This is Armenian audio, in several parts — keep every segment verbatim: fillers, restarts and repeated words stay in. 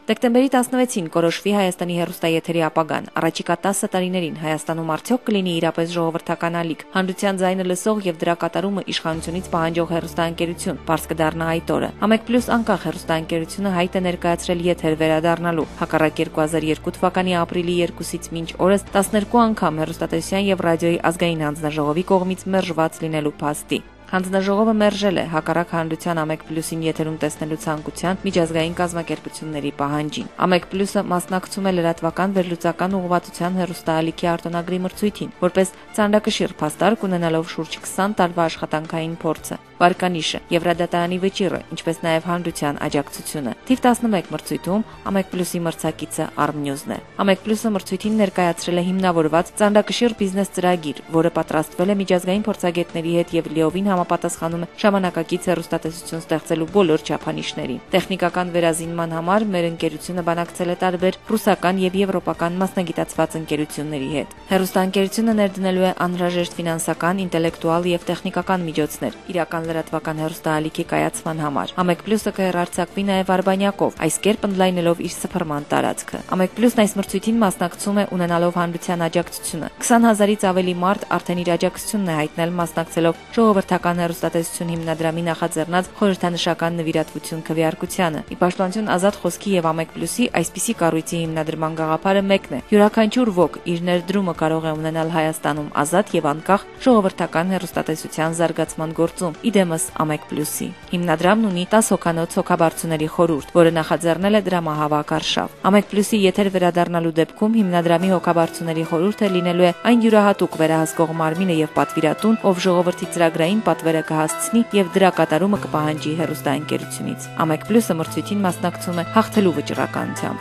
Դեկտեմբերի տասնվեցին կորոշվի Հայաստանի հեռուստաեթերի ապագան։ Առաջիկա տասը տարիներին Հայաստանում արդյոք կլինի իրապես ժողովրդական ալիք, հանրության ձայնը լսող եւ դրա կատարումը իշխանությունից պահանջող հեռուստաընկերություն, բաց կդառնա այդ օրը։ Ամեկ պլյուս անկախ հեռուստաընկերությունը հայտ է ներկայացրել եթեր վերադառնալու։ Հակառակ երկու հազար երկու թվականի ապրիլի երկուսից մինչ օրս տասներկու անգամ հեռուստատեսության եւ ռադիոյի ազգային հանձնաժողովի կողմից մերժված լինելու փաստի։ Հանձնաժողովը մերժել է հակառակ հանրության Ամեկ պլյուսին եթերում տեսնելու ցանկության միջազգային կազմակերպությունների պահանջին։ Ամեկ պլյուսը մասնակցում է լրատվական վերլուծական ուղղվածության հեռուստաալիքի արտոնագրի մրցույթին, որպես ծանրակշիռ փաստարկ ունենալով շուրջ քսան տարվա աշխատանքային փորձը, վարկանիշը եւ ռադիոդատարանի վճիռը, ինչպես նաեւ հանրության աջակցությունը։ Թիվ տասնմեկ մրցույթում Ամեկ պլյուսի մրցակիցը Armnews-ն է։ Ամեկ պլյուսը մրցույթին ներկայացրել է հիմնավորված ծանրակշիռ բիզնես ծրագիր, որը պատրաստվել է միջազգային փորձագետների հետ եւ լիովին համապատասխանում է ժամանակակից հեռուստատեսություն ստեղծելու բոլոր չափանիշներին։ Տեխնիկական վերազինման համար մեր ընկերությունը բանակցել է տարբեր ռուսական եւ եվրոպական մասնագիտացված ընկերությունների հետ։ Հեռուստաընկերությունը ներդնելու է անհրաժեշտ ֆինանսական, ինտելեկտուալ եւ տեխնիկական միջոցներ իրական լրատվական հեռուստաալիքի կայացման համար։ Ամեկ պլյուսը կհեռարձակվի նաեւ Արբանյակով, այս կերպ ընդլայնելով իր սփռման տարածքը։ Ամեկ պլյուսն այս մրցույթին մասնակցում է ունենալով հանրության աջակցությունը։ քսան հազարից ավելի մարդ արդեն իր աջակցությունն է հայտնել մասնակցելով ժողովրդական հեռուստատեսություն հիմնադրամի նախաձեռնած խորհրդանշական նվիրատվություն քվեարկությանը։ Ի պաշտպանություն ազատ խոսքի եւ Ամեկ պլյուսի այսպիսի կառույցի հիմնադրման գաղափարը մեկն է։ Յուրաքանչյուր ոք իր ներդրումը կարող է ունենալ Հայաստանում ազատ եւ անկախ ժողովրդական հեռուստատեսության զարգացման գործում։ Իդեմս Ամեկ պլյուսի հիմնադրամն ունի տասը հոգանոց հոգաբարձուների խորհուրդ, որը նախաձեռնել է դրամահավաք արշավ։ Ամեկ պլյուսի եթեր վերադառնալու դեպքում հիմնադրամի հոգաբարձուների խորհուրդը լինելու է այն յուրահատուկ վերահսկող մարմինը եւ պատվիրատուն, ով ժողովրդի ծրագրային պատվերը կհասցնի եւ դրա կատարումը կպահանջի հեռուստաընկերությունից։ Ամեկ պլյուսը մրցույթին մասնակցում է հաղթելու վճռականությամբ։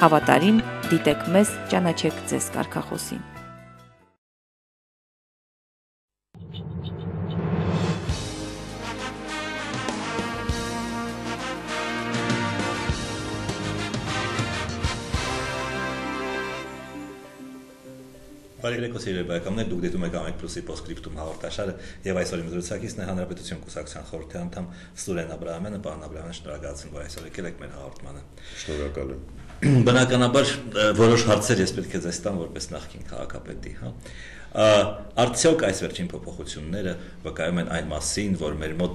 Հավատարիմ, դիտեք մեզ, ճանաչեք ձեզ կարգախոսին։ Բարեկարգ սիրելի բարեկամներ, դուք դիտում եք Ամեկ պլյուսի Postscriptum հաղորդաշարը եւ այսօր իմ զրուցակիցն է Հանրապետություն կուսակցության խորհրդի անդամ Սուրեն Աբրահամյանը։ Պարոն Աբրահամյան, շնորհակալություն, որ այսօր եկել եք մեր հաղորդմանը։ Շնորհակալ եմ։ Բնականաբար որոշ հարցեր ես պետք է ձեզ տամ որպես նախկին քաղաքապետի, հա։ Արդյոք այս վերջին փոփոխությունները վկայում են այն մասին, որ մեր մոտ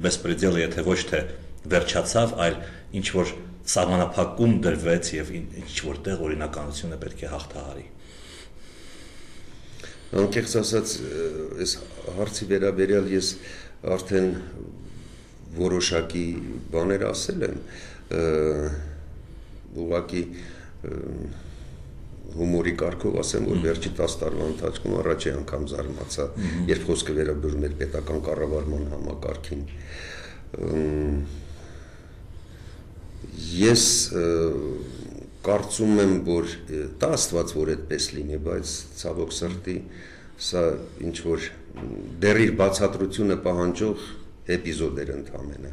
բեսպրեդելը եթե ոչ թե վերջացավ, այլ ինչ որ սահմանափակում դրվեց եւ ինչ որտեղ օրինականությունը պետք է հաղթահարի։ Անկեղծ ասած, այս հարցի վերաբերյալ ես արդեն որոշակի բաներ ասել եմ, ուղղակի հումորի կարգով ասեմ, որ վերջի տասը տարվա ընթացքում առաջի անգամ զարմացա, երբ խոսքը վերաբերում էր պետական կառավարման համակարգին։ Ես կարծում եմ, որ դա Աստված որ այդպես լինի, բայց ցավոք սրտի սա ինչ որ դեռ բացատրությունը պահանջող էպիզոդ էր ընդամենը։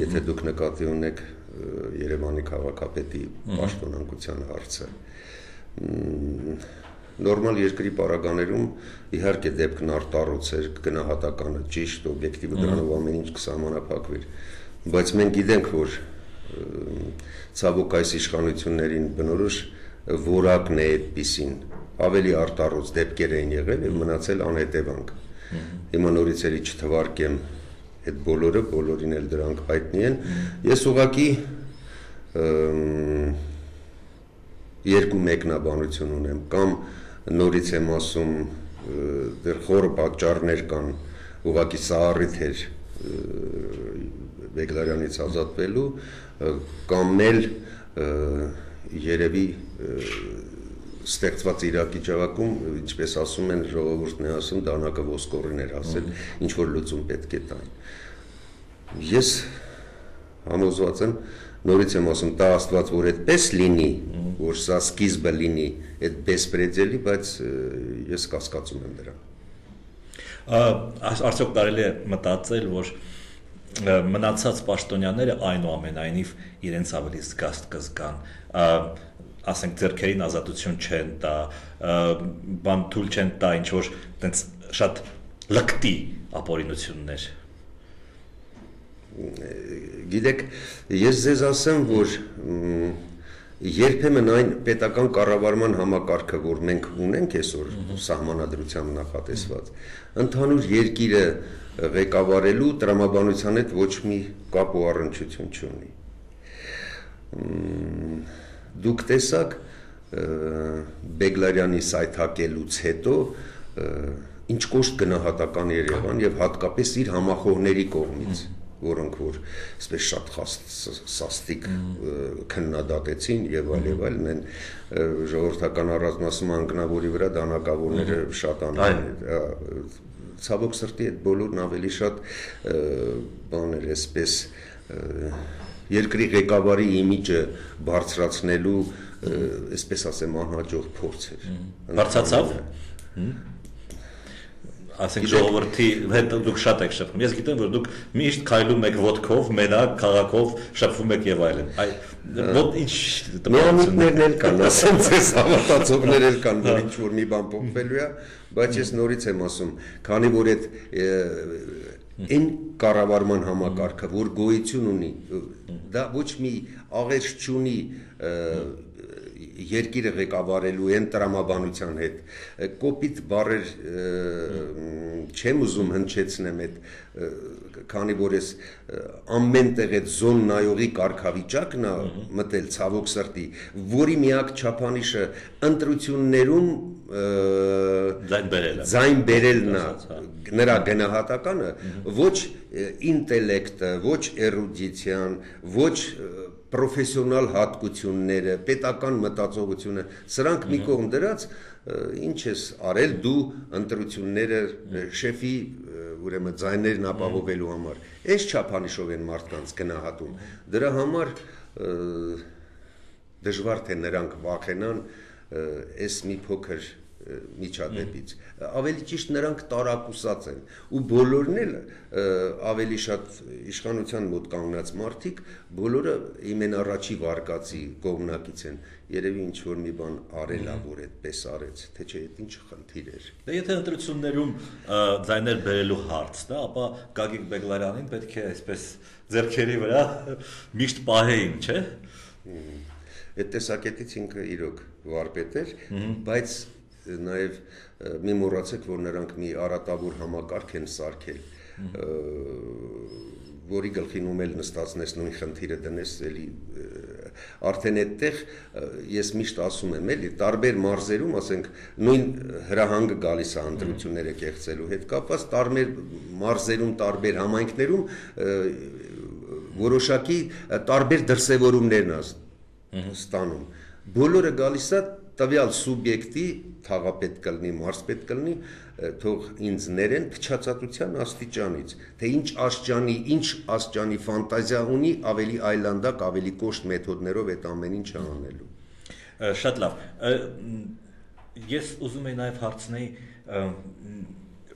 Եթե դուք նկատի ունեք Երևանի քաղաքապետի պաշտոնանկության հարցը, նորմալ երկրի պարագաներում իհարկե դեպքն արտառոց էր, գնահատականը ճիշտ, օբյեկտիվ դրանով ամեն ինչ կսահմանափակվեր, բայց մենք գիտենք, որ ցավոք այս իշխանություններին բնորոշ որակն է այդպիսին, ավելի արտառոց դեպքեր էին եղել եւ մնացել անհետևանք։ Հիմա նորից էլի չթվարկեմ այդ բոլորը, բոլորին էլ դրանք հայտնի են։ Ես ուղղակի երկու մեկնաբանություն ունեմ, կամ նորից եմ ասում, դեռ խորը պատճառներ կան, ուղղակի սա առիթ էր Բեգլարյանից ազատվելու, կամ էլ երևի ստեղծված իրավիճակում, ինչպես ասում են, ժողովուրդն է ասում, դանակը ոսկորին էր ասել, ինչ որ լուծում պետք է տան։ Ես համոզված եմ, նորից եմ ասում, դա Աստված որ այդպես լինի, որ սա սկիզբը լինի այդ բեսպրեդելի, բայց ես կասկածում եմ դրան։ Արդյոք կարելի է մտածել, որ մնացած պաշտոնյաները այնուամենայնիվ իրենց ավելի զգաստ կզգան, ասենք ձեռքերին ազատություն չեն տա, բան թույլ չեն տա, ինչ որ տենց շատ լկտի ապօրինություններ։ գիտեք, ես ձեզ ասեմ, որ երբեմն այն պետական կառավարման համակարգը, որ մենք ունենք այսօր սահմանադրությամբ նախատեսված, ընդհանուր երկիրը ղեկավարելու տրամաբանության հետ ոչ մի կապ ու առնչություն չունի։ Դուք տեսաք Բեգլարյանի սայթակելուց հետո ինչ կոշտ գնահատական էր եղան եւ հատկապես իր համախոհների կողմից, որոնք որ այսպես շատ սաստիկ քննադատեցին եւ այլ եւ այլն են ժողովրդական առանձնասման անկնավորի վրա դանակավորները շատ անում ցավոք սրտի այդ բոլորն ավելի շատ բաներ այսպես երկրի ղեկավարի իմիջը բարձրացնելու այսպես ասեմ անհաջող փորձ էր բարձրացավ ասենք ժողովրդի հետ դուք շատ եք շփվում։ Ես գիտեմ, որ դուք միշտ քայլում եք ոտքով, մենակ, քաղաքով, շփվում եք եւ այլն։ Այ ո՞տ ինչ տպավորություններն էլ կան, ասեմ ձեզ հավատացողներ էլ կան, որ ինչ որ մի բան փոխվելու է, բայց ես նորից եմ ասում, քանի որ այդ այն կառավարման համակարգը, որ գոյություն ունի, դա ոչ մի աղերս չունի երկիրը ղեկավարելու են տրամաբանության հետ կոպիտ բառեր չեմ ուզում հնչեցնեմ այդ քանի որ ես ամեն տեղ այդ զոն նայողի կարգավիճակն է մտել ցավոք սրտի որի միակ չափանիշը ընտրություններում ձայն բերելն է նրա գնահատականը ոչ ինտելեկտը ոչ էրուդիցիան ոչ պրոֆեսիոնալ հատկությունները, պետական մտածողությունը, սրանք մի կողմ դրած, ինչ ես արել դու ընտրությունները շեֆի ուրեմն ձայներն ապահովելու համար։ Այս չափանիշով են մարդկանց գնահատում։ Դրա համար դժվար թե նրանք վախենան այս մի փոքր միջադեպից ավելի ճիշտ նրանք տարակուսած են ու բոլորն էլ ավելի շատ իշխանության մոտ կանգնած մարդիկ բոլորը իմեն առաջի վարկածի կողմնակից են երևի ինչ որ մի բան արել ա որ այդպես արեց թե չէ այդ ինչ խնդիր էր դե եթե ընտրություններում ձայներ բերելու հարց դա ապա Գագիկ Բեգլարյանին պետք է այսպես ձեռքերի վրա միշտ պահեին չէ այդ տեսակետից ինքը իրոք վարպետ էր բայց նաև մի մոռացեք, որ նրանք մի արատավոր համակարգ են սարքել, որի գլխին ում էլ նստածնես նույն խնդիրը դնես, էլի արդեն այդտեղ ես միշտ ասում եմ, էլի տարբեր մարզերում, ասենք, նույն հրահանգը գալիս է ընտրությունները կեղծելու հետ կապված, տարբեր մարզերում, տարբեր համայնքներում որոշակի տարբեր դրսևորումներն է ստանում։ Բոլորը գալիս է տվյալ սուբյեկտի թաղապետ կլնի, մարզպետ կլնի, թող ինձ ներեն փչացածության աստիճանից, թե ինչ աստիճանի, ինչ աստիճանի ֆանտազիա ունի, ավելի այլանդակ, ավելի կոշտ մեթոդներով այդ ամեն ինչը անելու։ Շատ լավ։ Ես ուզում եի նաև հարցնեի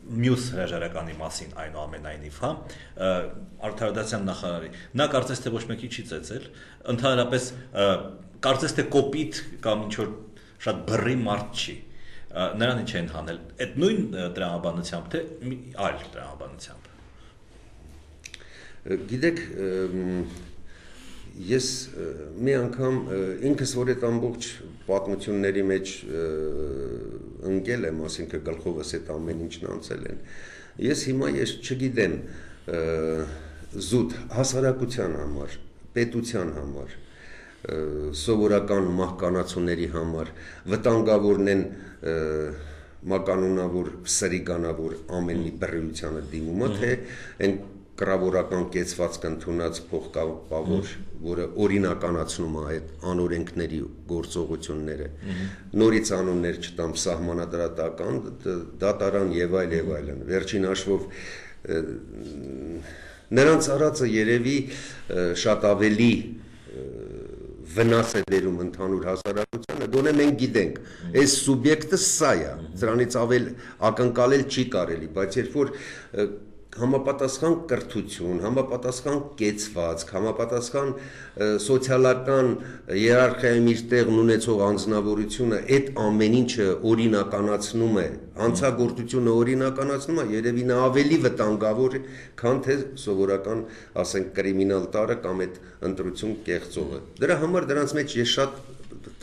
մյուս հրաժարականի մասին այնուամենայնիվ, հա, Արդարադատության նախարարի։ Նա կարծես թե ոչ մեկի չի ծեծել, ընդհանրապես կարծես թե կոպիտ կամ ինչ որ շատ բռի մարդ չի։ Նրան ինչ են հանել։ Այդ նույն տրամաբանությամբ թե այլ տրամաբանությամբ։ Գիտեք, ես մի անգամ ինքս որ այդ ամբողջ պատմությունների մեջ ընկել եմ, ասինքն գլխովս այդ ամեն ինչն անցել են։ Ես հիմա ես չգիտեմ զուտ հասարակության համար, պետության համար սովորական մահկանացուների համար վտանգավորն են մականունավոր սրիկանավոր ամեն մի բռիությանը դիմումը թե այն կրավորական կեցվածք ընդունած փոխկապավոր որը օրինականացնում է այդ անօրենքների գործողությունները նորից անուններ չտամ սահմանադրական դատարան եւ այլ եւ այլն վերջին հաշվով նրանց արածը երևի շատ ավելի վնաս է բերում ընդհանուր հասարակությանը, գոնե մենք գիտենք, այս սուբյեկտը սա է, դրանից ավել ակնկալել չի կարելի, բայց երբ որ համապատասխան կրթություն, համապատասխան կեցվածք, համապատասխան սոցիալական հիերարխիայում իր տեղն ունեցող անձնավորությունը այդ ամեն ինչը օրինականացնում է, հանցագործությունը օրինականացնում է, երևի նա ավելի վտանգավոր է, քան թե սովորական, ասենք, կրիմինալ տարը կամ այդ ընտրություն կեղծողը։ Դրա համար դրանց մեջ ես շատ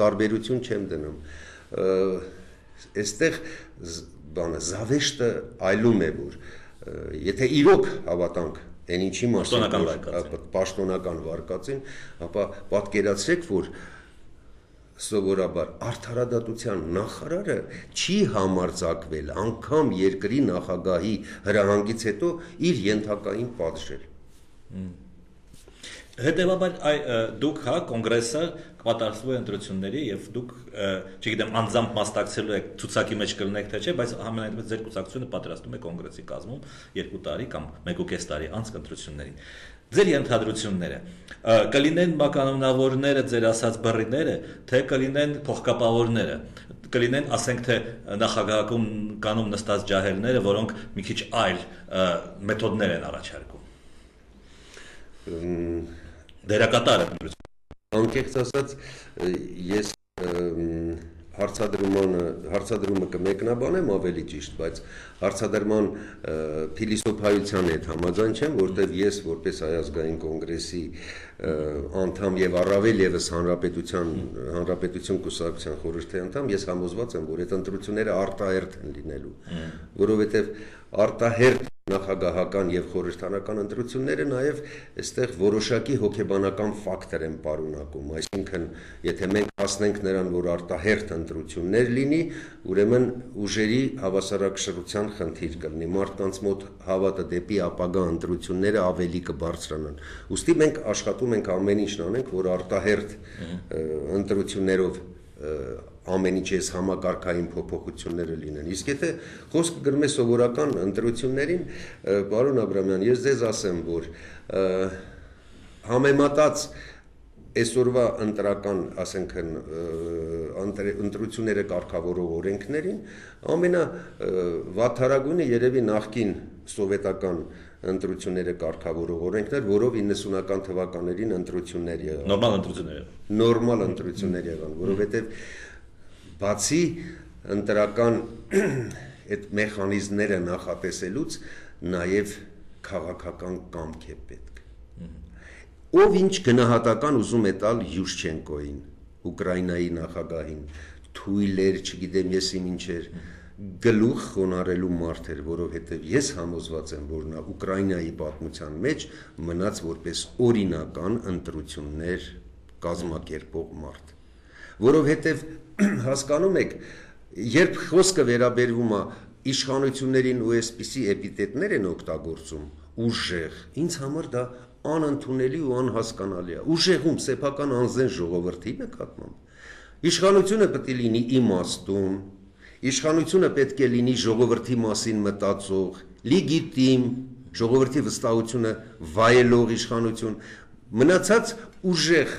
տարբերություն չեմ դնում։ Այստեղ բանը զավեշտը այլում է, որ եթե իրոք հավատանք այն ինչի մասին պաշտոնական վարկածին, ապա պատկերացրեք, որ սովորաբար արդարադատության նախարարը չի համարձակվել անգամ երկրի նախագահի հրահանգից հետո իր ենթակային պատժել։ Հետևաբար դուք հա կոնգրեսը կպատարսվի ընտրությունների եւ դուք չգիտեմ անձամբ մասնակցելու եք ցուցակի մեջ կլինեք թե չէ, բայց համենայնպես ձեր կուսակցությունը պատրաստում է կոնգրեսի կազմում երկու տարի կամ մեկ ու կես տարի անց ընտրություններին։ Ձեր ենթադրությունները կլինեն մականոնավորները, ձեր ասած բռիները, թե կլինեն փոխկապավորները, կլինեն, ասենք թե նախագահական կանոն նստած ջահելները, որոնք մի քիչ այլ մեթոդներ են առաջարկում։ Դերակատարը անկեղծ ասած ես հարցադրումը հարցադրումը կմեկնաբանեմ ավելի ճիշտ, բայց հարցադրման փիլիսոփայության հետ համաձայն չեմ, որտեղ ես որպես Հայ ազգային կոնգրեսի անդամ եւ առավել եւս հանրապետության հանրապետություն կուսակցության խորհրդի անդամ, ես համոզված եմ, որ այդ ընտրությունները արտահերթ են լինելու, որովհետեւ արտահերթ նախագահական եւ խորհրդանական ընտրությունները նաեւ այստեղ որոշակի հոգեբանական ֆակտոր են պարունակում, այսինքն եթե մենք հասնենք նրան, որ արտահերթ ընտրություններ լինի, ուրեմն ուժերի հավասարակշռության խնդիր կլինի, մարդկանց մոտ հավատը դեպի ապագա ընտրությունները ավելի կբարձրանան։ Ուստի մենք աշխատում ենք ամեն ինչն անենք, որ արտահերթ ընտրություններով ամեն ինչ այս համակարգային փոփոխությունները լինեն։ Իսկ եթե խոսքը գնում է սովորական ընտրություններին, պարոն Աբրամյան, ես ձեզ ասեմ, որ համեմատած այսօրվա ընտրական, ասենք, ընտրությունները կարգավորող օրենքներին, ամենավատթարագույնը երևի նախկին սովետական ընտրությունները կարգավորող օրենքներ, որով իննսունական թվականներին ընտրություններ եղան։ Նորմալ ընտրություններ։ Նորմալ ընտրություններ եղան, որովհետև բացի ընտրական այդ մեխանիզմները նախատեսելուց նաև քաղաքական կամք է պետք։ Ով ինչ գնահատական ուզում է տալ Յուշչենկոյին, Ուկրաինայի նախագահին, թույլ էր, չգիտեմ ես իմ ինչեր, գլուխ խոնարհելու մարդ էր, որովհետև ես համոզված եմ, որ նա Ուկրաինայի պատմության մեջ մնաց որպես օրինական ընտրություններ կազմակերպող մարդ, որովհետև հասկանում եք, երբ խոսքը վերաբերվում է իշխանություններին ու այսպիսի էպիտետներ են օգտագործում, ուժեղ, ինձ համար դա անընդունելի ու անհասկանալի է, ուժեղում սեփական անձեն ժողովրդի նկատմամբ, իշխանությունը պետք է լինի իմաստուն, իշխանությունը պետք է լինի ժողովրդի մասին մտածող, լեգիտիմ, ժողովրդի վստահությունը վայելող իշխանություն, մնացած ուժեղ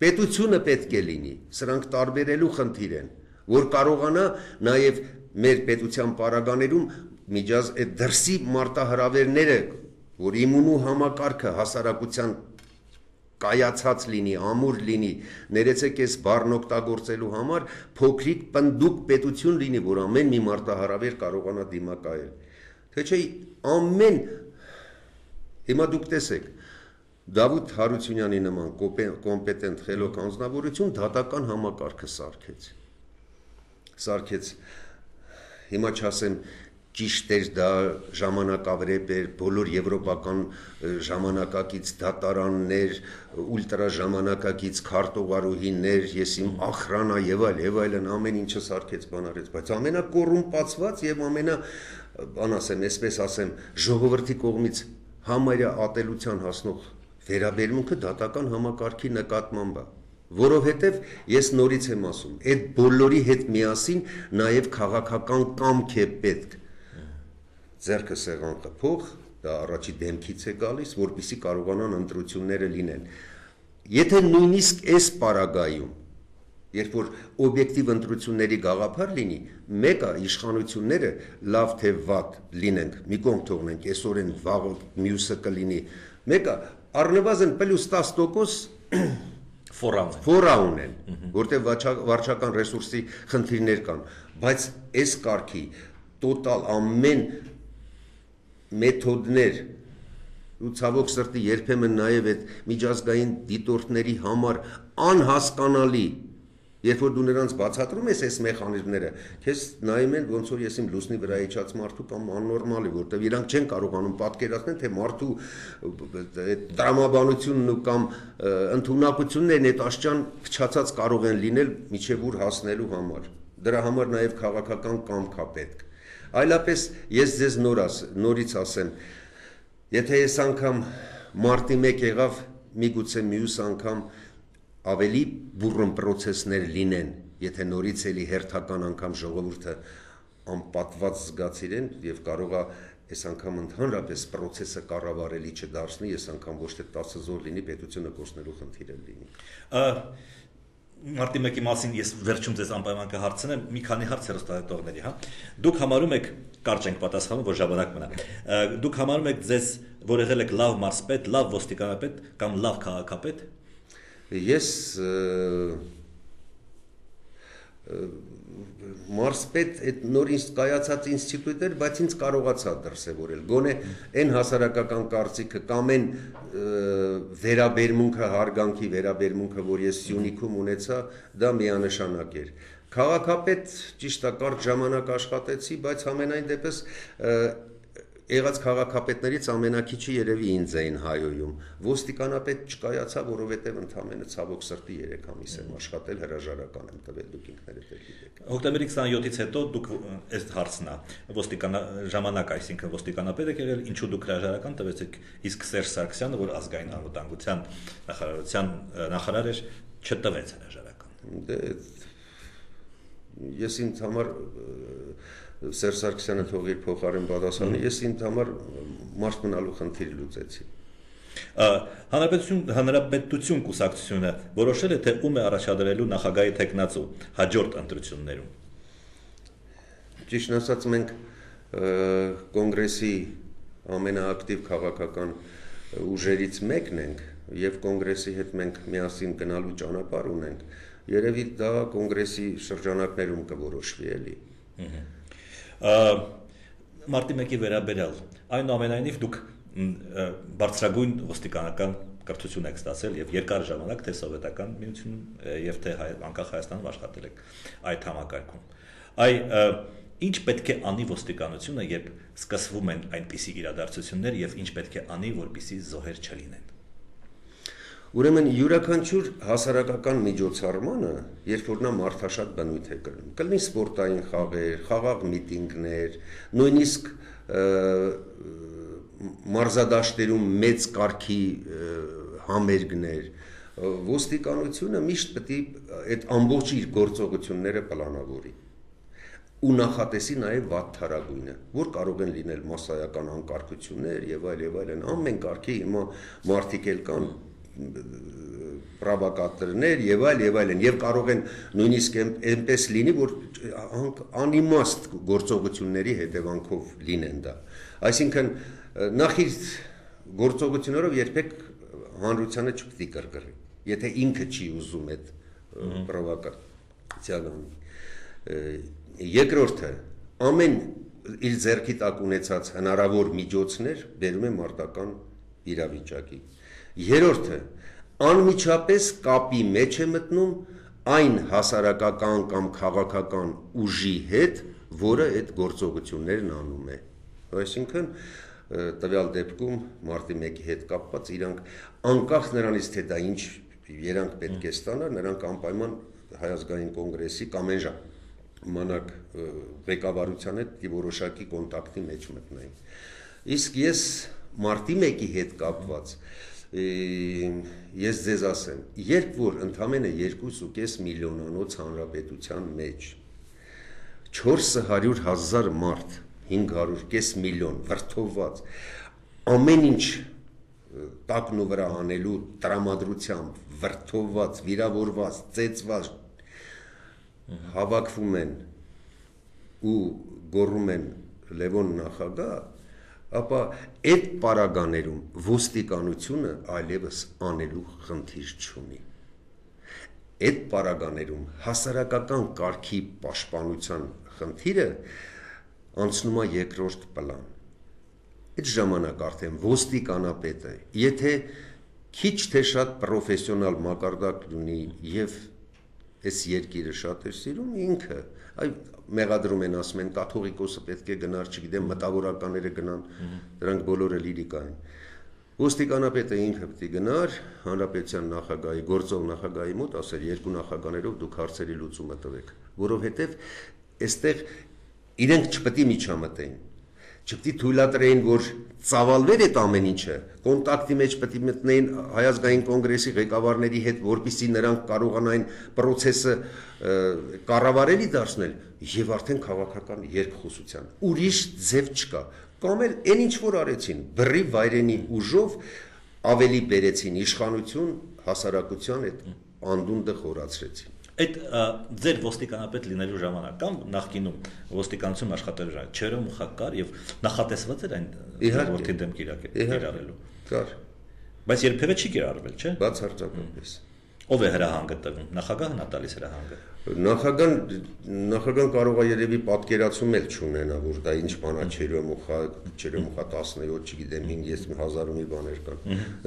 պետությունը պետք է լինի, սրանք տարբերելու խնդիր են, որ կարողանա նաև մեր պետության պարագաներում միջազ այդ դրսի մարտահրավերները, որ իմունու համակարգը հասարակության կայացած լինի, ամուր լինի, ներեցեք այս բառն օգտագործելու համար փոքրիկ պնդուկ պետություն լինի, որ ամեն մի մարտահրավեր կարողանա դիմակայել։ Թե չէ ամեն հիմա դուք տեսեք, Դավիթ Հարությունյանի նման կոմպետենտ խելոք անձնավորություն դատական համակարգը սարքեց։ Սարքեց, հիմա չասեմ ճիշտ էր դա ժամանակավրեպ էր, բոլոր եվրոպական ժամանակակից դատարաններ, ուլտրա ժամանակակից քարտուղարուհիներ, ես իմ ախրանա եւ այլ եւ այլն ամեն ինչը սարքեց բանարեց, բայց ամենակոռումպացված եւ ամենա, բան ասեմ, այսպես ասեմ, ժողովրդի կողմից համարյա ատելության հասնող վերաբերմունքը դատական համակարգի նկատմամբ է, որովհետև ես նորից եմ ասում, այդ բոլորի հետ միասին նաև քաղաքական կամք է պետք, ձեռքը սեղան խփող, դա առաջի դեմքից է գալիս, որպեսզի կարողանան ընտրությունները լինեն։ Եթե նույնիսկ այս պարագայում Երբ որ օբյեկտիվ ընտրությունների գաղափար լինի, մեկը իշխանությունները լավ թե վատ լինենք, մի կողմ թողնենք, այսօրեն վաղը մյուսը կլինի, մեկը առնվազն պլյուս տասը տոկոս ֆորա ունեն, որտեղ վարչական ռեսուրսի խնդիրներ կան, բայց այս կարգի տոտալ ամեն մեթոդներ ու ցավոք սրտի երբեմն նաև այդ միջազգային դիտորդների համար անհասկանալի, երբ որ դու նրանց բացատրում ես այս մեխանիզմները, քեզ նայում են ոնց որ ես իմ լուսնի վրա իջած մարդու կամ աննորմալի, որտեղ իրանք չեն կարողանում պատկերացնել, թե մարդու տրամաբանությունն ու կամ ընդունակություններն այդ աշճան փչացած կարող են լինել միջև ուր հասնելու համար։ Դրա համար նաև քաղաքական կամք է պետք։ Այլապես ես ձեզ նորաս, նորից ասեմ, եթե այս անգամ մարտի մեկ եղավ, միգուցե մյուս անգամ ավելի բուռն պրոցեսներ լինեն, եթե նորից էլի հերթական անգամ ժողովուրդը անպատված զգացիրեն եւ կարողա այս անգամ ընդհանրապես պրոցեսը կառավարելի չդարձնի, այս անգամ ոչ թե տասը զոհ լինի, պետությունը կորցնելու խնդիր լինի։ Մարտի մեկի մասին ես վերջում ձեզ անպայման կհարցնեմ, մի քանի հարց հեռուստադիտողների, հա։ Դուք համարում եք, կարճ ենք պատասխանում, որ ժամանակ մնա։ Դուք համարում եք ձեզ, որ եղել եք լավ մարզպետ, լավ ոստիկանապետ կամ լավ քաղաքապետ։ Ես մարզպետ այդ նոր կայացած ինստիտուտ էր, բայց ինձ կարողացա դրսևորել, գոնե այն հասարակական կարծիքը կամ այն վերաբերմունքը, հարգանքի վերաբերմունքը, որ ես Սյունիքում ունեցա, դա միանշանակ էր։ Քաղաքապետ ճիշտ է, կարճ ժամանակ աշխատեցի, բայց համենայն դեպս եղած քաղաքապետներից ամենակիչը երևի ինձ էին հայոյում։ Ոստիկանապետ չկայացա, որովհետև ընդամենը ցավոք սրտի երեք ամիս եմ աշխատել, հրաժարական եմ տվել, դուք ինքներդ եք գիտեք։ Հոկտեմբերի քսաներկուից հետո դուք այս հարցն է, ոստիկան ժամանակ, այսինքն ոստիկանապետ եք եղել, ինչու դուք հրաժարական տվեցիք, իսկ Սերժ Սարգսյանը, որ ազգային անվտանգության նախարարության նախարար էր, չտվեց հրաժարական։ Դե ես ինձ համար Սերժ Սարգսյանը թող իր փոխարեն պատասխանի, ես ինձ համար մարդ մնալու խնդիր լուծեցի։ Հանրապետություն, հանրապետություն կուսակցությունը որոշել է, թե ում է առաջադրելու նախագահի թեկնածու հաջորդ ընտրություններում։ Ճիշտն ասած, մենք կոնգրեսի ամենաակտիվ քաղաքական ուժերից մեկն ենք եւ կոնգրեսի հետ մենք միասին գնալու ճանապարհ ունենք։ Երևի դա կոնգրեսի շրջանակներում կորոշվի էլի։ Մարտի մեկի վերաբերյալ, այնուամենայնիվ դուք բարձրագույն ոստիկանական կրթություն եք ստացել եւ երկար ժամանակ թե սովետական միությունում եւ թե անկախ Հայաստանում աշխատել եք այդ համակարգում։ Այ ինչ պետք է անի ոստիկանությունը, երբ սկսվում են այնպիսի իրադարձություններ եւ ինչ պետք է անի, որպեսզի զոհեր չլինեն։ Ուրեմն յուրաքանչյուր հասարակական միջոցառմանը, երբ որ նա մարդաշատ բնույթ է կրում, կլինի սպորտային խաղեր, խաղաղ միտինգներ, նույնիսկ մարզադաշտերում մեծ կարգի համերգներ, ոստիկանությունը միշտ պետք է այդ ամբողջ իր գործողությունները պլանավորի ու նախատեսի նաև վատթարագույնը, որ կարող են լինել մասսայական անկարգություններ եւ այլ եւ այլն, ամեն կարգի հիմա մարդիկ էլ կան պրովոկատորներ եւ այլ եւ այլն եւ կարող են նույնիսկ այնպես լինի, որ անիմաստ գործողությունների հետևանքով լինեն դա։ Այսինքն նախ իր գործողություններով երբեք հանրությանը չպետք է կրկրի, եթե ինքը չի ուզում այդ պրովոկացիան անի։ Երկրորդը, ամեն իր ձեռքի տակ ունեցած հնարավոր միջոցներ բերում է մարտական իրավիճակի։ Երրորդը, անմիջապես կապի մեջ է մտնում այն հասարակական կամ քաղաքական ուժի հետ, որը այդ գործողություններն անում է։ Այսինքն տվյալ դեպքում մարտի մեկի հետ կապված իրանք անկախ նրանից, թե դա ինչ երանգ պետք է ստանա, նրանք անպայման Հայ ազգային կոնգրեսի կամ այն ժամանակ ղեկավարության հետ որոշակի կոնտակտի մեջ մտնային։ Իսկ ես մարտի մեկի հետ կապված ես ձեզ ասեմ, երբ որ ընդամենը երկու ու կես միլիոնանոց հանրապետության մեջ չորս հարյուր հազար մարդ, հինգ հարյուր կես միլիոն վրդովված, ամեն ինչ տակն ու վրա անելու տրամադրությամբ, վրդովված, վիրավորված, ծեծված, հավաքվում են ու գոռում են Լևոն նախագահ, ապա այդ պարագաներում ոստիկանությունը այլևս անելու խնդիր չունի։ Այդ պարագաներում հասարակական կարգի պաշտպանության խնդիրը անցնում է երկրորդ պլան։ Այդ ժամանակ արդեն ոստիկանապետը, եթե քիչ թե շատ պրոֆեսիոնալ մակարդակ ունի եւ այս երկիրը շատ է սիրում, ինքը այ մեղադրում են, ասում են կաթողիկոսը պետք է գնար, չգիտեմ, մտավորականները գնան, դրանք բոլորը լիրիկա են։ Ոստիկանապետը ինքը պետք է գնար հանրապետության նախագահի, գործող նախագահի մոտ, ասել երկու նախագաներով դուք հարցերի լուծումը տվեք, որովհետև այստեղ իրենք չպետք է միջամտեին, չպետք է թույլատրեին, որ ծավալվեր այդ ամեն ինչը, կոնտակտի մեջ պետք է մտնեին Հայ ազգային կոնգրեսի ղեկավարների հետ, որպեսզի նրանք կարողանային process-ը կառավարելի դարձնել եւ արդեն քաղաքական երկխոսության։ Ուրիշ ձև չկա։ Կամ էլ այն ինչ որ արեցին, բռի վայրենի ուժով ավելի բերեցին իշխանություն, հասարակության այդ անդունդը խորացրեցին։ Այդ ձեր ոստիկանապետ լինելու ժամանակ կամ նախկինում ոստիկանություն աշխատելու ժամանակ չերը մուխակար եւ նախատեսված էր այն որդի դեմ կիրառելու։ Կար։ Բայց երբևէ չի կիրառվել, չէ՞։ Բացարձակապես։ Ով է հրահանգը տվում։ Նախագահն է տալիս հրահանգը։ Նախագահան նախագահան կարող է երևի պատկերացում էլ չունենա, որ դա ինչ բան է, չերեմուխա, չերեմուխա տասնյոթ, չգիտեմ, հինգ հազար ու մի բաներ կան։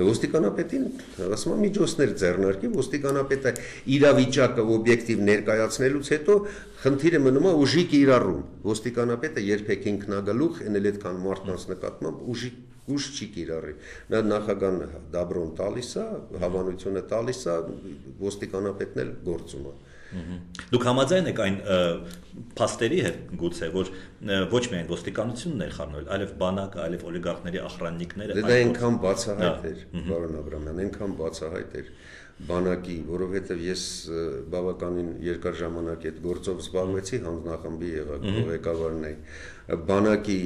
Ոստիկանապետին ասում եմ միջոցներ ձեռնարկի, ոստիկանապետը իրավիճակը օբյեկտիվ ներկայացնելուց հետո խնդիրը մնում է ուժի կիրառում։ Ոստիկանապետը երբեք ինքնագլուխ, այն էլ այդքան մարդկանց նկատմամբ ուժի ուժ չի կիրառի։ Նա նախագահան դաբրոն տալիս է, հավանությունը տալիս է, ոստիկանապետն էլ գործում է։ Դուք համաձայն եք այն փաստերի հետ գուցե, որ ոչ միայն ոստիկանությունն էր խառնվել, այլև բանակը, այլև օլիգարխների ախրաննիկները։ Դա այնքան բացահայտ էր, պարոն Աբրամյան, այնքան բացահայտ էր բանակի, որովհետև ես բավականին երկար ժամանակ այդ գործով զբաղվեցի, հանձնախմբի ղեկավարն էի, բանակի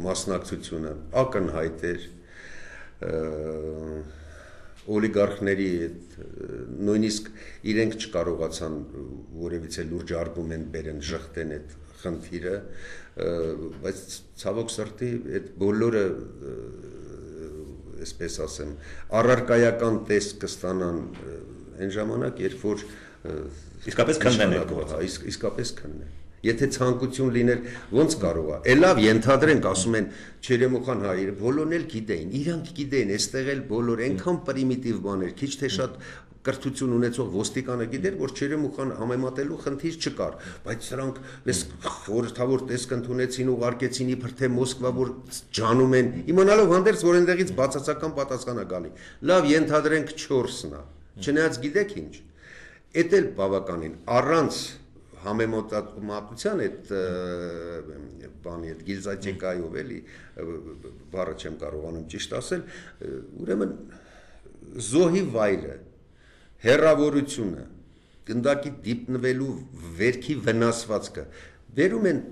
մասնակցությունը ակնհայտ էր, օլիգարխների նույնիսկ իրենք չկարողացան որևիցե լուրջ արգումենտ բերեն, ժխտեն այդ խնդիրը, բայց ցավոք սրտի այդ բոլորը, այսպես ասեմ, առարկայական տեսք կստանան այն ժամանակ, երբ որ իսկապես քննեն իսկապես քննեն։ Եթե ցանկություն լիներ, ոնց կարող է։ Էլավ ենթադրենք, ասում են Չերեմուխան հայերը, բոլորն էլ գիտեին, իրանք գիտեին, այստեղ էլ բոլոր այնքան պրիմիտիվ բաներ, քիչ թե շատ կրթություն ունեցող ոստիկանը գիտեր, որ Չերեմուխան համեմատելու խնդիր չկար, բայց սրանք մեզ խորհրդավոր տեսք ընդունեցին, ուղարկեցին իբր թե Մոսկվա, որ ջանում են, իմանալով հանդերձ, որ այնտեղից բացասական պատասխան է գալի։ Լավ, ենթադրենք չորսն է, չնայած գիտեք ինչ, էդ էլ բավականին առանց համեմատության այդ բանի այդ գիլզատեկայով էլի բառը չեմ կարողանում ճիշտ ասել, ուրեմն զոհի վայրը, հեռավորությունը, գնդակի դիպնվելու վերքի վնասվածքը վերում են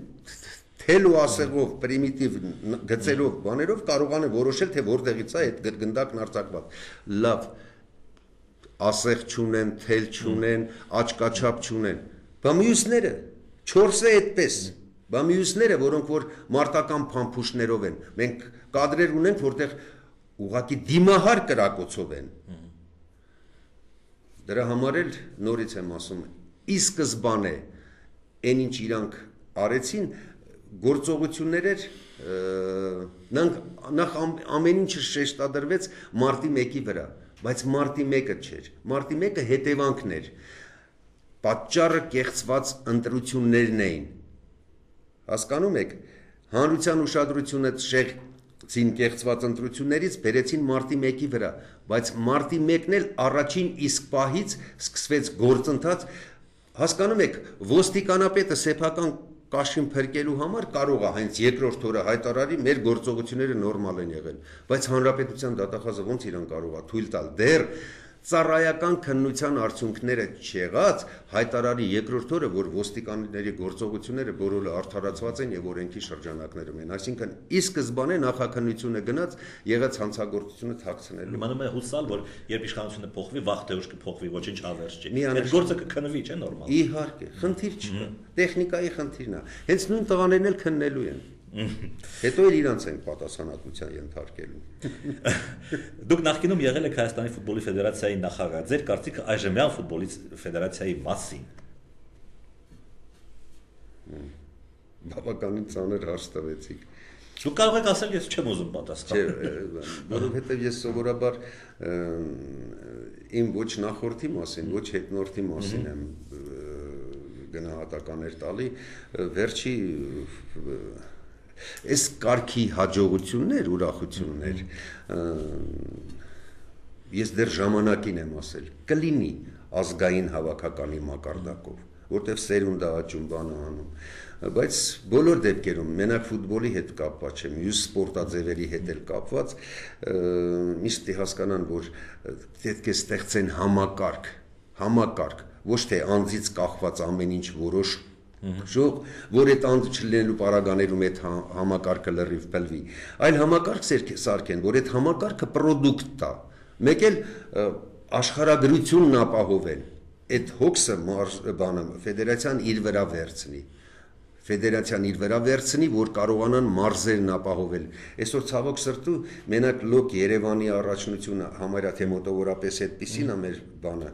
թել ու ասեղով, պրիմիտիվ գծերով, բաներով կարողան են որոշել, թե որտեղից է այդ գնդակն արձակված։ Լավ, ասեղ չունեն, թել չունեն, աչկաչափ չունեն, բա մյուսները, չորսը այդպես, բա մյուսները, որոնք որ մարտական փամփուշտներով են, մենք կադրեր ունենք, որտեղ ուղղակի դիմահար կրակոցով են։ Դրա համար էլ նորից եմ ասում, ի սկզբանե այն ինչ իրանք արեցին, գործողություններ էր, նախ ամեն ինչը շեշտադրվեց մարտի մեկի վրա, բայց մարտի մեկը չէր, մարտի մեկը հետևանքն էր, պատճառը կեղծված ընտրություններն էին, հասկանում եք, հանրության ուշադրությունը շեղեցին կեղծված ընտրություններից, բերեցին մարտի մեկի վրա, բայց մարտի մեկն էլ առաջին իսկ պահից սկսվեց գործընթաց, հասկանում եք, ոստիկանապետը սեփական կաշին փրկելու համար կարող է հենց երկրորդ օրը հայտարարի մեր գործողությունները նորմալ են եղել, բայց հանրապետության դատախազը ոնց իրան կարող է թույլ տալ դեռ ծառայական քննության արդյունքները չեղած հայտարարի երկրորդ օրը, որ ոստիկանների գործողությունները բոլորը արդարացված են եւ օրենքի շրջանակներում են, այսինքն ի սկզբանե նախաքննությունը գնաց եղած հանցագործությունը թաքցնելու։ Մնում է հուսալ, որ երբ իշխանությունը փոխվի, վաղ թե ուշ կփոխվի, ոչինչ ավերջ չի։ Մի Այդ գործը կքննվի, չէ՞ նորմալ։ Իհարկե, խնդիր չկա։ Տեխնիկայի խնդիրն է։ Հենց նույն տղաներն էլ քննելու են։ Հետո էլ իրանց են պատասխանատվության ենթարկելու։ Դուք նախկինում եղել եք Հայաստանի ֆուտբոլի ֆեդերացիայի նախագահ, ձեր կարծիքը այժմյան ֆուտբոլի ֆեդերացիայի մասին։ Բավականին ծանր հարց տվեցիք։ Դուք կարող եք ասել, ես չեմ ուզում պատասխանել։ Չէ, որովհետև ես սովորաբար իմ ոչ նախորդի մասին, ոչ հետնորդի մասին եմ գնահատականներ տալի, վերջի այս կարգի հաջողություններ, ուրախություններ, ես դեռ ժամանակին եմ ասել, կլինի ազգային հավաքականի մակարդակով, որտեղ սերունդ է աճում, բանը անում, բայց բոլոր դեպքերում, մենակ ֆուտբոլի հետ կապված չէ, մյուս սպորտաձևերի հետ էլ կապված, միշտ հասկանան, որ պետք է ստեղծեն համակարգ, համակարգ, ոչ թե անձից կախված ամեն ինչ որոշ ժող, որ այդ անձը չլինելու պարագաներում այդ համակարգը լրիվ փլվի, այլ համակարգ սարքեն, որ այդ համակարգը պրոդուկտ տա, մեկ էլ աշխարհագրությունն ապահովել, այդ հոգսը բանը ֆեդերացիան իր վրա վերցնի, ֆեդերացիան իր վրա վերցնի, որ կարողանան մարզերն ապահովել։ Այսօր ցավոք սրտու մենակ լոկ Երևանի առաջնությունը համարյա թե մոտավորապես այդպիսին է մեր բանը։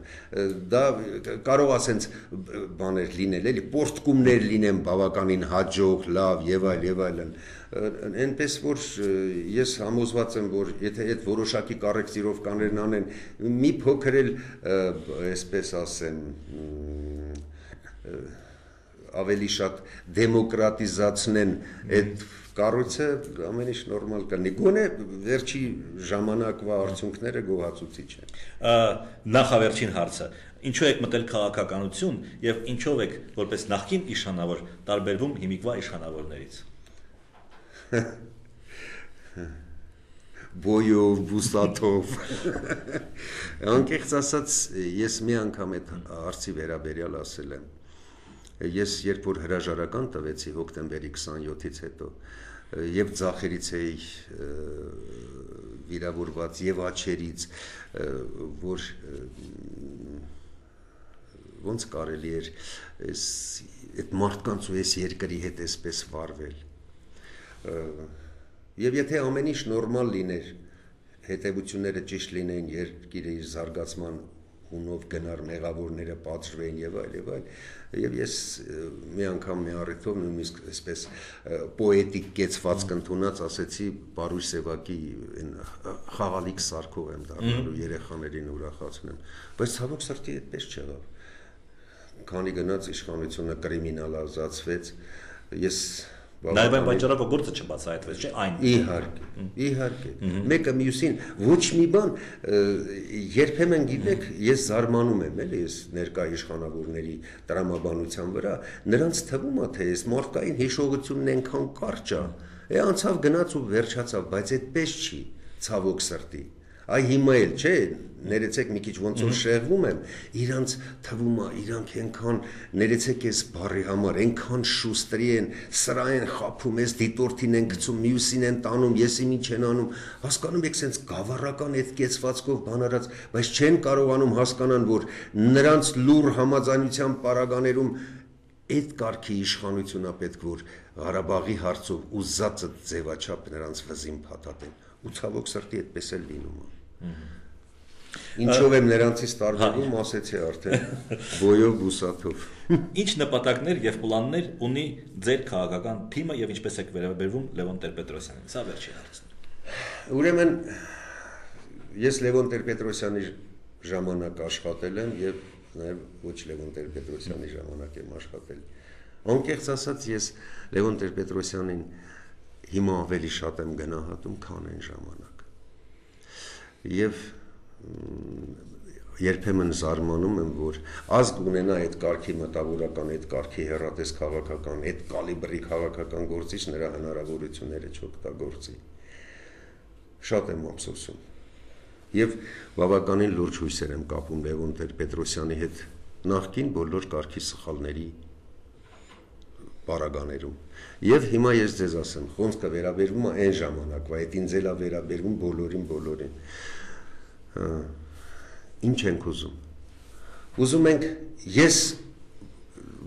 Դա կարող ասենց բաներ լինել, էլի պորտկումներ լինեն բավականին հաջող, լավ եւ այլ եւ այլն։ Այնպես որ ես համոզված եմ, որ եթե այդ որոշակի կառեկտիրովկաներն անեն, մի փոքր էլ այսպես ասեմ ավելի շատ դեմոկրատիզացնեն այդ կառույցը ամեն ինչ նորմալ կլինի։ Գոնե վերջի ժամանակվա արդյունքները գոհացուցիչ են։ Նախավերջին հարցը. ինչու եք մտել քաղաքականություն եւ ինչով եք որպես նախկին իշխանավոր տարբերվում հիմիկվա իշխանավորներից։ Բոյով, բուսատով։ Անկեղծ ասած, ես մի անգամ այդ հարցի վերաբերյալ ասել եմ։ Ես երբ որ հրաժարական տվեցի հոկտեմբերի քսաներկուից հետո եւ ձախերից էի վիրավորված եւ աչերից, որ ոնց կարելի էր այս այդ մարդկանց ու այս երկրի հետ այսպես վարվել։ Եվ եթե ամեն ինչ նորմալ լիներ, հետևությունները ճիշտ լինեին, երկիրը իր զարգացման հունով գնար, մեղավորները պատժվեին եւ այլ եւ այլ, եւ ես մի անգամ մի առիթով նույնիսկ այսպես պոետիկ կեցվածք ընդունած ասեցի Պարույր Սևակի այն խաղալիք սարքով եմ դառնալու երեխաներին ուրախացնեմ, բայց ցավոք սրտի այդպես չեղավ։ Քանի գնաց իշխանությունը կրիմինալիզացվեց, ես Նաև այն պատճառով գործը չբացահայտվեց, չէ՞ այն։ Իհարկե, իհարկե։ Մեկը մյուսին ոչ մի բան, երբեմն գիտեք, ես զարմանում եմ, էլի, ես ներկա իշխանավորների տրամաբանության վրա, նրանց թվում է, թե այս մարդկային հիշողությունն այնքան կարճ է, է անցավ գնաց ու վերջացավ, բայց այդպես չի, ցավոք սրտի։ Այ հիմա էլ, չէ, ներեցեք մի քիչ ոնց որ շեղվում եմ, իրանց թվում է, իրանք այնքան ներեցեք այս բառի համար, այնքան շուստրի են, սրա են խափում, այս դիտորդին են գցում, մյուսին են տանում, եսի ինչ են անում, հասկանում եք, սենց գավառական այդ կեցվածքով բան արած, բայց չեն կարողանում հասկանան, որ նրանց լուր համաձայնության պարագաներում այդ կարգի իշխանությունա պետք որ Ղարաբաղի հարցով ուզածը ձևաչափ նրանց վզին փաթաթեն, ու ցավոք սրտի այդպես էլ լինում է։ Ինչով եմ նրանցից տարբերվում, ասեցի արդեն, բոյով, բուսաթով։ Ինչ նպատակներ եւ պլաններ ունի ձեր քաղաքական թիմը եւ ինչպես եք վերաբերվում Լևոն Տեր-Պետրոսյանին։ Սա վերջին հարցն է։ Ուրեմն ես Լևոն Տեր-Պետրոսյանի ժամանակ աշխատել եմ եւ նաեւ ոչ Լևոն Տեր-Պետրոսյանի ժամանակ եմ աշխատել։ Անկեղծ ասած ես Լևոն Տեր-Պետրոսյանին հիմա ավելի շատ եմ գնահատում, քան այն ժամանակ։ Եվ երբեմն զարմանում եմ, որ ազգ ունենա այդ կարգի մտավորական, այդ կարգի հեռատես քաղաքական, այդ կալիբրի քաղաքական գործիչ նրա հնարավորությունները չօգտագործի։ Շատ եմ ափսոսում։ Եվ բավականին լուրջ հույսեր եմ կապում Լևոն Տեր-Պետրոսյանի հետ նախկին բոլոր կարգի սխալների պարագաներում։ Եվ հիմա ես ձեզ ասեմ, խոսքը վերաբերվում է այն ժամանակվա, այդ ինձ էլ է վերաբերվում բոլորին, բոլորին։ Ինչ ենք ուզում։ Ուզում ենք, ես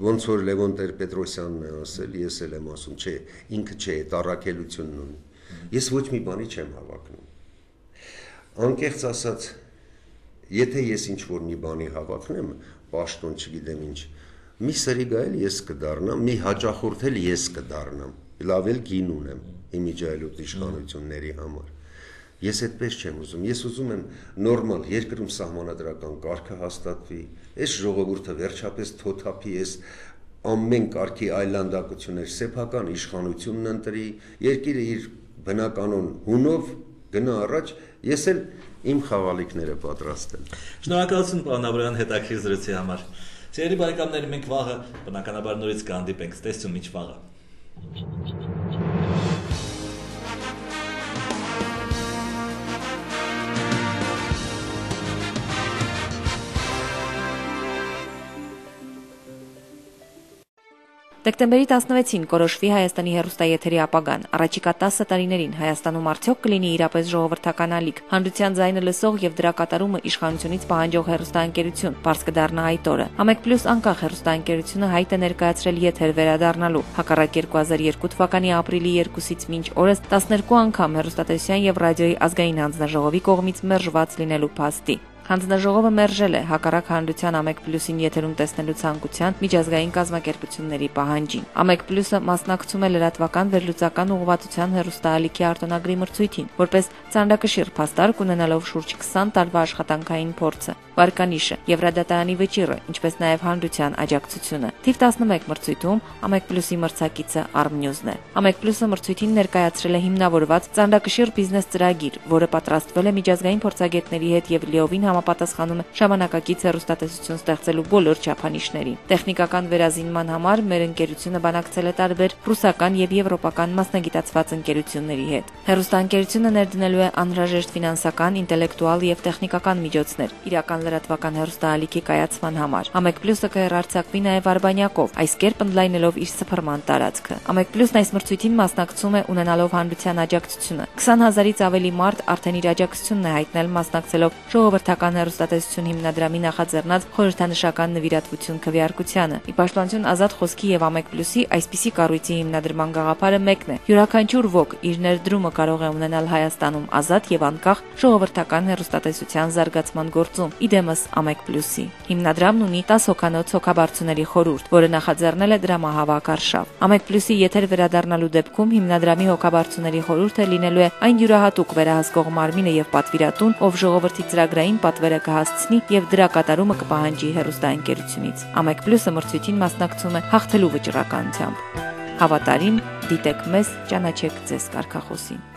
ոնց որ Լևոն Տեր-Պետրոսյանն է ասել, ես էլ եմ ասում, չէ, ինքը չէ, այդ առաքելությունն ունի։ Ես ոչ մի բանի չեմ հավակնում։ Անկեղծ ասած, եթե ես ինչ-որ մի բանի հավակնեմ, պաշտոն չգիտեմ ինչ, մի սրիգա էլ ես կդառնամ, մի հաճախորդ էլ ես կդառնամ, լավ էլ գին ունեմ իմիջայլոտ իշխանությունների համար։ Ես այդպես չեմ ուզում, ես ուզում եմ նորմալ երկրում սահմանադրական կարգը հաստատվի, այս ժողովուրդը վերջապես թոթափի, այս ամեն կարգի այլանդակություններ սեփական իշխանությունն ընտրի, երկիրը իր բնականon հունով գնա առաջ, ես էլ իմ խաղալիքները պատրաստ եմ։ Շնորհակալություն պարոն Աբրահամյան հետաքրքիր զրույցի համար։ Սիրելի բարեկամներ, մենք վաղը բնականաբար նորից կհանդիպենք, տեսություն մինչ վաղը։ Դեկտեմբերի տասնվեցին կորոշվի Հայաստանի հեռուստաեթերի ապագան։ Առաջիկա տասը տարիներին Հայաստանում արդյոք կլինի իրապես ժողովրդական ալիք, հանրության ձայնը լսող եւ դրա կատարումը իշխանությունից պահանջող հեռուստաընկերություն, բարձ կդառնա այդ օրը։ Ամեկ պլյուս անկախ հեռուստաընկերությունը հայտ է ներկայացրել եթեր վերադառնալու։ Հակառակ երկու հազար երկու թվականի ապրիլի երկուսից մինչ օրս տասներկու անգամ հեռուստատեսության եւ ռադիոյի ազգային հանձնաժողովի կողմից մերժված լինելու փաստի։ Հանձնաժողովը մերժել է հակառակ հանրության Ամեկ պլյուսին եթերում տեսնելու ցանկության միջազգային կազմակերպությունների պահանջին։ Ամեկ պլյուսը մասնակցում է լրատվական վերլուծական ուղղվածության հեռուստաալիքի արտոնագրի մրցույթին, որպես ծանրակշիռ փաստարկ ունենալով շուրջ քսան տարվա աշխատանքային փորձը, վարկանիշը եւ ռադիոյի վճիռը, ինչպես նաեւ հանրության աջակցությունը։ Թիվ տասնմեկ մրցույթում Ամեկ պլյուսի մրցակիցը Armnews-ն է։ Ամեկ պլյուսը մրցույթին ներկայացրել է հիմնավորված ծանրակշիռ բիզնես ծրագիր, որը պատրաստվել է միջազգային փորձագետների հետ եւ լիովին համապատասխանում է ժամանակակից հեռուստատեսություն ստեղծելու բոլոր չափանիշներին։ Տեխնիկական վերազինման համար մեր ընկերությունը բանակցել է տարբեր ռուսական եւ եվրոպական մասնագիտացված ընկերությունների հետ։ Հեռուստաընկերությունը ներդնելու է անհրաժեշտ ֆինանսական, ինտելեկտուալ եւ տեխնիկական միջոցներ իրական լրատվական հեռուստաալիքի կայացման համար։ Ամեկ պլյուսը կհեռարձակվի նաեւ Արբանյակով, այս կերպ ընդլայնելով իր սփռման տարածքը։ Ամեկ պլյուսն այս մրցույթին մասնակցում է ունենալով հանրության աջակցությունը։ քսան հազարից ավելի մարդ արդեն իր աջակցությունն է հայտնել մասնակցելով ժողովրդական հեռուստատեսություն հիմնադրամի նախաձեռնած խորհրդանշական նվիրատվություն քվեարկությանը։ Ի պաշտպանություն ազատ խոսքի եւ Ամեկ պլյուսի այսպիսի կառույցի հիմնադրման գաղափարը մեկն է։ Յուրաքանչյուր ոք իր ներդրումը կարող է ունենալ Հայաստանում ազատ եւ անկախ ժողովրդական հեռուստատեսության զարգացման գործում։ Իդեմս Ամեկ պլյուսի հիմնադրամն ունի տասը հոգանոց հոգաբարձուների խորհուրդ, որը նախաձեռնել է դրամահավաք արշավ։ Ամեկ պլյուսի եթեր վերադառնալու դեպքում հիմնադրամի հոգաբարձուների խորհուրդը լինելու է այն յուրահատուկ վերահսկող մարմինը եւ պատվիրատուն, ով ժողովրդի ծրագրային պատվերը կհասցնի եւ դրա կատարումը կպահանջի հեռուստաընկերությունից։ Ամեկ պլյուսը մրցույթին մասնակցում է հաղթելու վճռականությամբ։ Հավատարիմ, դիտեք մեզ, ճանաչեք ձեզ կարգախոսին։